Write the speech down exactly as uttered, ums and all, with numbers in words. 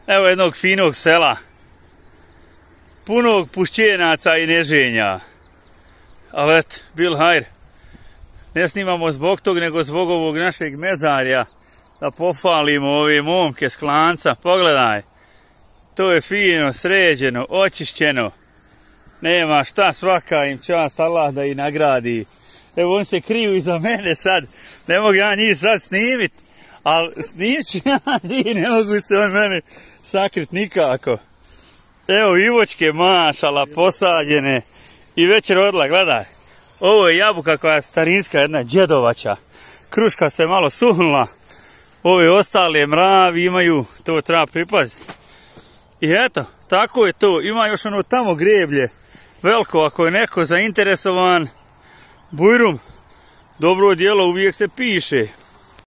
Evo jednog finog sela. Punog pušćenaca i neženja. Ali eto, bil hajr. Ne snimamo zbog tog, nego zbog ovog našeg mezarja. Da pohvalimo ove momke s Klanca. Pogledaj. To je fino, sređeno, očišćeno. Nema šta, svaka im čast, Allah da ih nagradi. Evo on se kriju iza mene sad. Ne mogu ja njih sad snimit. Ali snimit ću ja njih, ne mogu se on mene sakrit nikako. Evo ivočke mašala posađene. I već rodila, gledaj. Ovo je jabuka koja je starinska, jedna džedovača. Kruška se malo suhnula. Ove ostale mravi imaju, to treba pripaziti. I eto, tako je to. Ima još ono tamo greblje. Veliko, ako je neko zainteresovan. Bujrum, dobro djelo uvijek se piše.